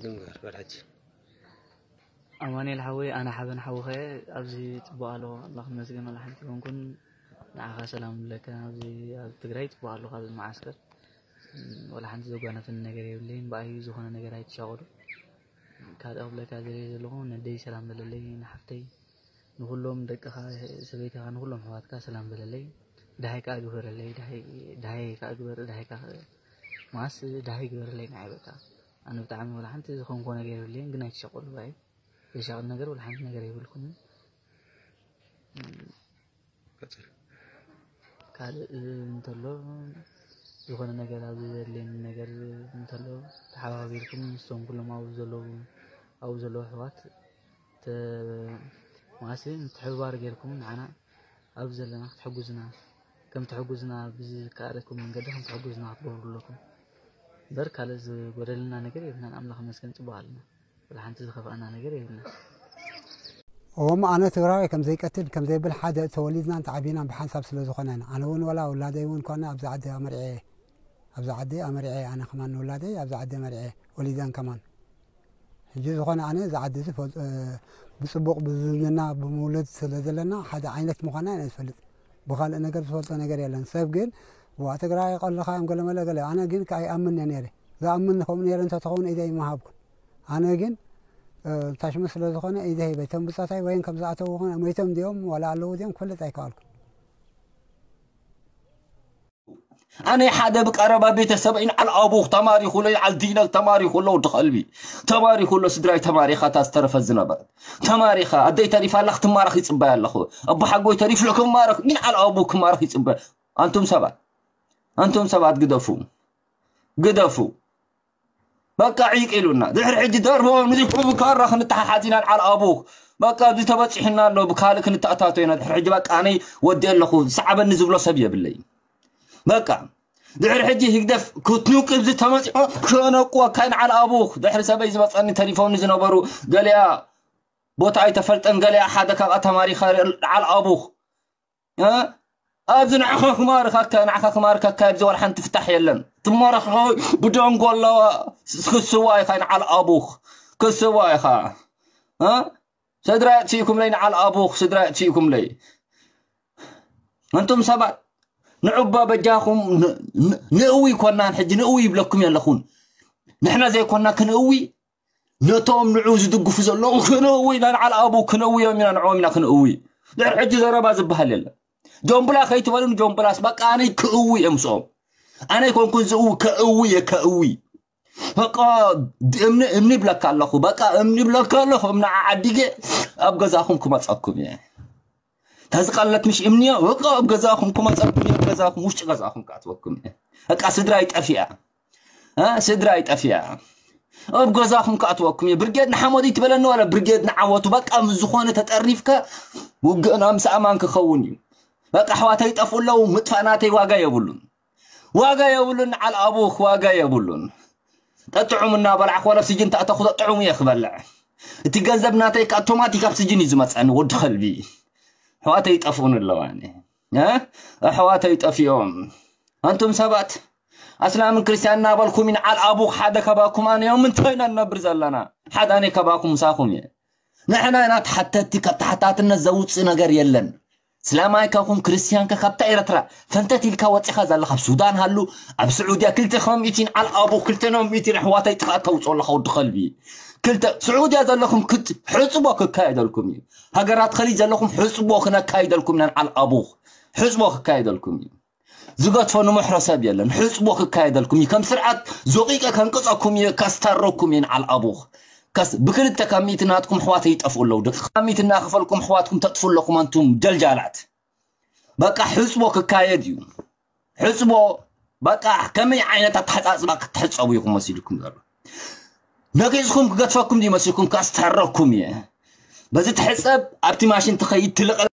ንግበር በል ሕጂ። ኣማኑኤል ሓወይ፣ ኣነ ሓበን ሓውኸ ኣብዚ ጽቡቕ ኣለኹ። ኣምላኽ ይመስገን፣ ዋላ ሓንቲ ይኮንኩን። ንዓኻ ሰላም ንብለካ። ኣብዚ ኣብ ትግራይ ጽቡቕ ኣለኹ። ኣብዚ መዓስከር፣ እም፣ ዋላ ሓንቲ ዘጓነፈኒ ነገር የብለይን። ብኣይ ዝኾነ ነገር ኣይትሻቐሉ። ካልእ ክብለካ ዝደሊ ዘለኹ፣ ነደይ ሰላም በለለይ፣ ንሓፍተይ፣ ንኹሎም ደቅኻ፣ ሰበይትኻ፣ ንኹሎም ኣሕዋትካ ሰላም በለለይ። ደሃይ ከኣ ግበረለይ፣ ደሃይ፣ ደሃይ ከኣ ግበር፣ ደሃይ ከኣ መዓስ ደሃይ ግበረለይ ንዓይ በቃ። ኣነ ብጣዕሚ ዋላ ሓንቲ ዝኾንኮ ነገር የብለይን፣ ግን ኣይትሻቐሉ ብኣይ። ዘሻቕል ነገር ዋላ ሓንቲ ነገር የብልኩምን። ቀጽል። ካልእ እንተሎ ዝኾነ ነገር ኣብዚ ዘድልየኒ ነገር እንተሎ ተሓባቢርኩም ምስቶም ኩሎም ኣብኡ ዘለዉ ኣብኡ ዘለዉ ኣሕዋት ተ- መዓስ ምትሕብባር ጌርኩም ንዓና ኣብዚ ዘለና ክትሕግዙና ከም ትሕግዙና ብዝከኣለኩም መንገዲ ከም ትሕግዙና ክትገብሩ ኣለኩም። እምበር ካልእ ዝጎደለና ነገር የብልናን። ኣምላኽ ይመስገን ጽቡቕ ኣለና። ወላ ሓንቲ ዝኸፍኣና ነገር የብልና። እሞ ኣነ ትግራዋይ ከም ዘይቀትል ከም ዘይብል ሓደ ተወሊድናን ተዓቢናን ብሓንሳብ ስለ ዝኾነ ኢና። ኣነ እውን ወላ ውላደይ እውን ኮነ ኣብዚ ዓዲ ኣመሪዐ ኣብዚ ዓዲ ኣመሪዐ ኣነ ከማን ንውላደይ ኣብዚ ዓዲ ኣመሪዐ ወሊደን ከማን ሕጂ ዝኾነ ኣነ እዚ ዓዲ እዚ ፈልጦ ብፅቡቕ ብዝምድና ብምውለድ ስለ ዘለና ሓደ ዓይነት ምዃና ኢና ዝፈልጥ። ብኻልእ ነገር ዝፈልጦ ነገር የለን። ሰብ ግን ዋ ትግራይ ቀልድኻ እዮም ገለመለ ገለ ኣነ ግን ከኣ ይኣምን እየ ነይረ። ዝኣምን ከምኡ ነይረ እንተትኸውን ኢደ ይመሃብኩን። ኣነ ግን ታሽሙ ስለ ዝኾነ ኢደ ሂበ። እቶም ብፆታይ ወይን ከም ዝኣተዉ ኾነ ሞይቶም ድዮም ዋላ ኣለዉ ድዮም ክፈልጥ ኣይከኣልኩን። ኣነ ሓደ ብቀረባ ቤተሰበይ ንዓል ኣቡኽ ተማሪኹ ኣሎ ይዓል ዲነል ተማሪኹ ኣሎ ወዲ ከልቢ ተማሪኹ ኣሎ ስድራይ ተማሪኻ እታ ዝተረፈት ዝነበረት ተማሪኻ ኣደይ ተሪፋ ኣላ ክትማረኽ ይፅበያ ኣለኹ ኣቦሓጎይ ተሪፉ ኣሎ ክማረኽ ንዓል ኣቡኽ ክማረኽ ይፅበ ኣንቱም ሰባት ኣንቱም ሰባት ግደፉ ግደፉ በቃ ዒቅ ኢሉና ድሕሪ ሕጂ ደርቦ ንዚሑ ብካራ ክንተሓሓዝ ኢና ንዓል ኣቡኽ በቃ እዚ ተበፂሑና ኣሎ ብካልእ ክንተኣታቶ ኢና ድሕሪ ሕጂ በቃ ኣነይ ወዲ ኣለኹ ዝሰዓበኒ ዝብሎ ሰብ የብለይ በቃ ድሕሪ ሕጂ ህግደፍ ክትንቅብ ዝተመፅኦ ከነቁወካ ንዓል ኣቡኽ ድሕሪ ሰበይ ዝመፀኒ ተሪፎምኒ ዝነበሩ ገሊኣ ቦታ ኣይተፈልጠን ገሊኣ ሓደ ካብኣ ተማሪኻ ንዓል ኣቡኽ ኣብዚ ንዓኻ ክማርካካ ንዓኻ ክማርካካ ኣብዚ ዋላ ሓንቲ ፍታሕ የለን ትማረኽ ብደንጎ ኣለዋ ክስዋ ኢኻ ንዓል ኣቡኽ ክስዋ ኢኻ ስድራ የጥፊእኩምለይ ንዓል ኣቡኽ ስድራ የጥፊእኩምለይ እንቱም ሰባት ንዑባ በጃኹም ንእዊ ይኮናን ሕጂ ንእዊ ይብለኩም የለኹን ንሕና ዘይኮና ክንእዊ ነቶም ንዑ ዝድግፉ ዘለዉ ክንእዊ ኢና ንዓል ኣቡ ክንእውዮም ኢና ንዕኦም ኢና ክንእዊ ድሕሪ ሕጂ ዘረባ ዝበሃል የለን ጆምብላ ከይትበሉን ጆምብላስ በቃ ኣነይ ክእዊ እየ ምስኦም ኣነይ ኮንኩን ዝእዊ ከእዊ እየ ከእዊ በቃ እምኒ እምኒ ይብለካ ኣለኹ በቃ እምኒ ይብለካ ኣለኹ እምኒ ዓዓዲገ ኣብ ገዛኹም ክመፀኩም እየ ተዝቀለት ምሽ እምንዮ በቃ ኣብ ገዛኹም ክመፀኩም እየ ገዛኹም ውሽጢ ገዛኹም ክኣትወኩም እየ በቃ ስድራ ይጠፊኣ ስድራ ይጠፍያ ኣብ ገዛኹም ክኣትወኩም እዩ ብርጌድ ንሓመዱ ይትበለኒ ዋላ ብርጌድ ንዓወቱ በቃ ምስ ዝኾነ ተጠሪፍካ ውግእና ምስ ኣማን ክኸውን እዩ በቃ ኣሕዋተይ ይጠፍኡ ኣለዉ ምጥፋእ ናተይ ዋጋ የብሉን ዋጋ የብሉን ንዓል ኣቡኽ ዋጋ የብሉን ጠጥዑም እናበላዕክ ዋላ ስጅን ተኣተኹ ጠጥዑም እየ ክበልዕ እቲ ገንዘብ ናተይ ከኣቶማቲክ ኣብ ስጅን እዩ ዝመፀኒ ወዲ ከልቢ ኣሕዋተይ ይጠፍኡን ኣለዋኒ ኣሕዋተይ ጠፊኦም ኣንቱም ሰባት ኣስላምን ክርስትያን እናበልኩም ንዓል ኣቡኽ ሓደ ከባኩም ኣነ እዮም እንታይ ኢና ንነብር ዘለና ሓደ ኣነ ከባኩም ምሳኹም እየ ንሕና ኢና ተሓተቲ ካብ ተሓታትነት ዘውፅእ ነገር የለን ስላማይ ካኹም ክርስትያንካ ካብታ ኤረትራ ፈንተት ኢልካ ወፂኻ ዘለኻ ኣብ ሱዳን ሃሉ ኣብ ስዑድያ ክልተ ከም ሚእቲ ንዓል ኣቡኽ ክልተ ኖም ሚእቲ ኣሕዋተይ ጥፋእ ተውፅኦ ኣለኻ ወዲ ከልቢ ክልተ ስዑድያ ዘለኹም ክት ሕፅቦ ክካየደልኩም እዩ ሃገራት ኸሊጅ ዘለኹም ሕፅቦ ክነካይደልኩም ኢና ንዓል ኣቡኽ ሕፅቦ ክካየደልኩም እዩ ዝገድፎ ንምሕሮ ሰብ የለን ሕፅቦ ክካየደልኩም እዩ ከም ስርዓት ዞቂቀ ከንቅፀኩም እየ ከስታረኩም እየ ንዓል ኣቡኽ ከስ ብክልተ ካብ ሚእቲ ናትኩም ኣሕዋተይ ይጠፍኡ ኣለዉ ደቂ ካብ ሚእቲ እናኸፈልኩም ኣሕዋትኩም ተጥፉ ኣለኹም ኣንቱም ጀልጃላት በቃ ሕፅቦ ክካየድ እዩ ሕፅቦ በቃ ከመይ ዓይነት ኣተሓፃፅባ ክትሕፀቡ ኢኹም መሲልኩም ዘሎ ነቂፅኩም ክገድፈኩም ድዩ መሲልኩም ከስታረኩም እየ በዚ ትሕፀብ ኣብቲ ማሽን ትኸይድ ትልቐ